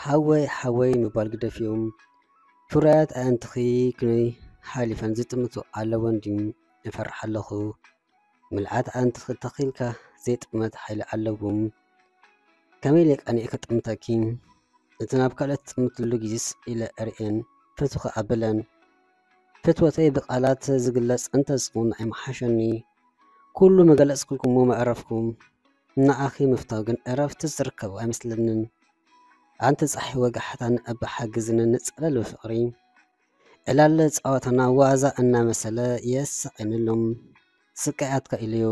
ሓወይ ሓወይ ምባል ግደፍዮም። ፍሩያት ኣእንትኺ ክንይ ሓሊፈን ዝጥምቱ ኣለወን ድዩ? እፈርሕ ኣለኹ። ምልኣት ኣእንትኺ ተኺልካ ዘይጥመት ሓይሊ ኣለዎም። ከመይ ኢለ ቀኒኤ ክጥምተኪ? እቲ ናብ ካልኦት ትጥምትሉ ግዜስ ኢለ እርእየን፣ ፍትኺ ኣብለን። ፍትወተይ ብቓላት ዝግለጽ እንተዝኸውን ኣይምሓሸኒ። ኩሉ ምገለጽኩልኩሞ መዕረፍኩም። ንኣኺ ምፍታው ግን ዕረፍቲ ዝርከቦ ኣይመስለንን። ኣንቲ ጻሒ ወጋሕታ ንዕባ ሓግዝኒ ንጸለል ብፍቕሪ። ዕላለ ጸወታና ዋዛ እናመሰለ የሳቕየኒ ኣሎ። ስቃይ ኣትካ ኢለዮ።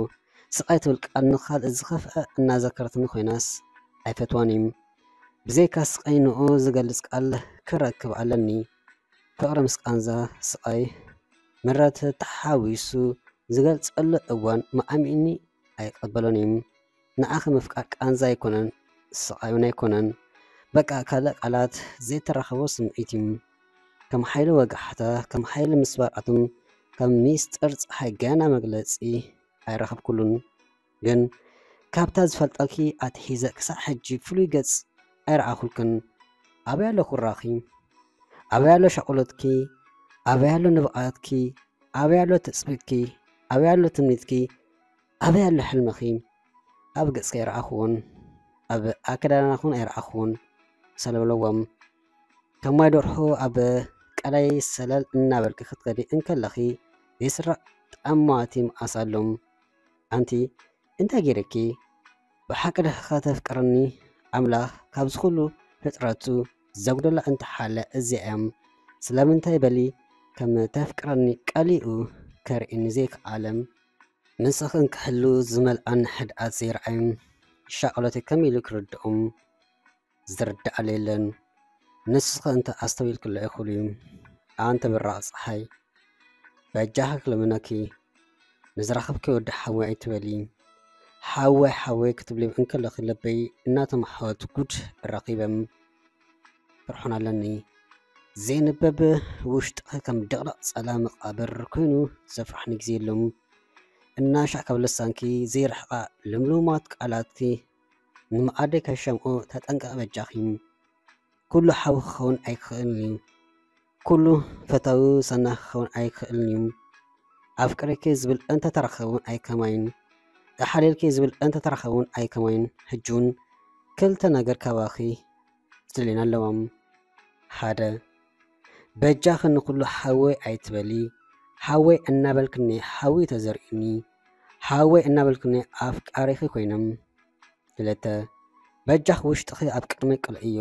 ስቃይ ትብል ቃል ንኻልእ ዝኸፍአ እናዘከረትኒ ኮይናስ ኣይፈትዋን እዩ። ብዘይካ ስቃይ ንኡ ዝገልጽ ቃል ክረክብ ኣለኒ። ፍቕሪ ምስ ቃንዛ ስቓይ ምረት ተሓዊሱ ዝገልጸሉ እዋን መዓሚኒ ኣይቀበሎን እዩ። ንዓኺ ምፍቃር ቃንዛ ኣይኮነን፣ ስቓይ እውን ኣይኮነን። በቃ ካልእ ቃላት ዘይተራኸቦ ስምዒት እዩ። ከም ሓይሊ ወጋሕታ፣ ከም ሓይሊ ምስባር ኣቶም፣ ከም ሚስጥር ጸሓይ ገና መግለጺ ኣይረኸብኩሉን። ግን ካብታ ዝፈልጠኪ ኣትሒዘ ክሳዕ ሕጂ ፍሉይ ገጽ ኣይረኣኹልክን። ኣበይ ኣሎ ኩራኺ? ኣበይ ኣሎ ሻቕሎትኪ? ኣበይ ኣሎ ንብቓትኪ? ኣበይ ኣሎ ትጽቢትኪ? ኣበይ ኣሎ ትምኒትኪ? ኣበይ ኣሎ ሕልምኺ? ኣብ ገጽኪ ኣይረኣኹዎን፣ ኣብ ኣከዳድናኹን ኣይረኣኹዎን። ሰለብለዎም። ከም ማይ ደርሆ ኣብ ቀላይ ሰለል እናበልኪ ክትከዲ እንከለኺ ዘይስራዕ ጠማቲ መዓስ ኣሎ። ኣንቲ እንታይ ገይረኪ? ብሓቂ ዲኺ ከተፍቅርኒ? ኣምላኽ ካብዚ ኩሉ ፍጥረቱ ዘጉደላ እንተሓልያ እዚኣ እያ። ስለምንታይ በሊ ከም ተፍቅረኒ ቀሊኡ ከርእየኒ ዘይከኣለ? ንስኽን ክሕሉ ዝመልኣኒ ሕድኣት ዘይረኣዩ ሻቕሎተይ ከመይ ኢሉ ክርድኦም? ዝርድኣለ የለን። ንስኺ እንተ ኣስተውኢልክሎ እኹል እዩ። ኣንቲ ብራቕ ጸሓይ፣ በጃኺ ክልምነኪ፣ ንዝረኸብኪ ወዲ ሓወይ ኣይትበሊ። ሓወይ ሓወይ ክትብሊ እንከለኺ ልበይ እናተማሕወት ጉድ ረኺበ። ፍርሖን ኣለኒ። ዘይንበብ ውሽጥኺ ከም ድቕድቕ ጸላም መቓብር ኮይኑ ዘፍርሓኒ ግዜ የሎም። እናሻዕ ካብ ልሳንኪ ዘይርሕቓ ልምሉማት ቃላትኪ ንመኣደይ ከይሸምኦ ተጠንቀቒ በጃኺ። ኩሉ ሓው ክኸውን ኣይክእልን እዩ። ኩሉ ፈታዊ ሰናኺ ክኸውን ኣይክእልን እዩ። ኣፍቅሬኪ ዝብል እንተተረኸበ እውን ኣይከማይን። እሓልየልኪ ዝብል እንተተረኸበ እውን ኣይከማይን። ሕጂ እውን ክልተ ነገር ካባኺ ዝድልየኒ ኣለዋ። ሓደ፣ በጃኺ ንኹሉ ሓወይ ኣይትበሊ። ሓወይ እናበልክኒ ሓዊ ተዘርእኒ። ሓወይ እናበልክኒ ኣፍቃሪኺ ኮይነ። ክልተ፣ በጃኺ ውሽጥኺ ኣብ ቅድመይ ቅልዕዮ።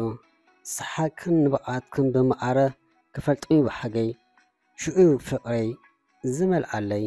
ሰሓቅክን ንብዓትክን ብመዓረ ክፈልጦ እዩ ብሓገይ። ሽዑ ፍቕረይ ዝመልኣለይ።